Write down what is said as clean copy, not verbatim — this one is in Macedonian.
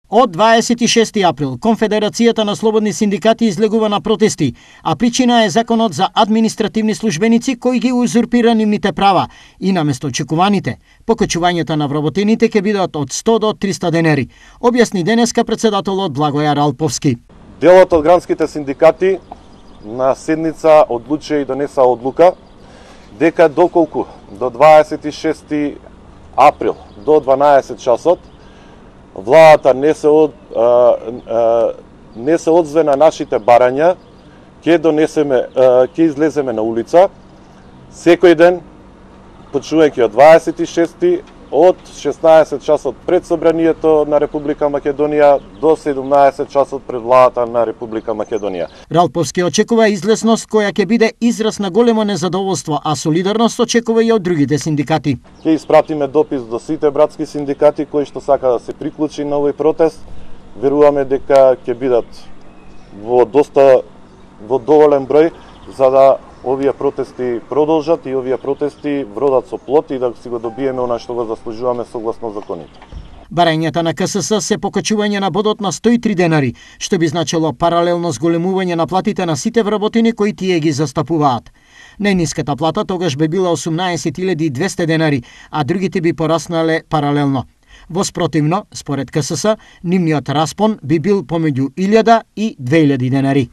Од 26 април, Конфедерацијата на слободни синдикати излегува на протести, а причина е законот за административни службеници кои ги узурпира нивните права и наместо очекуваните, покачувањето на вработените ќе бидат од 100 до 300 денери, објасни денеска председателот Благојар Алповски. Делот од гранските синдикати на седница одлучи и донеса одлука дека доколку до 26 април до 12 часот владата не се одзве на нашите барања, ќе излеземе на улица секој ден, почнувајќи од 26 од 16 часот пред собранието на Република Македонија до 17 часот пред владата на Република Македонија. Ралповски очекува излезност која ќе биде израз на големо незадоволство, а солидарност очекува и од другите синдикати. Ќе испратиме допис до сите братски синдикати кои што сака да се приклучи на овој протест. Веруваме дека ќе бидат во доволен број за да овие протести продолжат и овие протести вродат со плод и да си го добиеме она што го заслужуваме согласно законите. Барањата на КСС се покачување на бодот на 103 денари, што би значило паралелно зголемување на платите на сите вработени кои тие ги застапуваат. Најниската плата тогаш би била 18.200 денари, а другите би пораснале паралелно. Воспротивно, според КСС, нивниот распон би бил помеѓу 1000 и 2000 денари.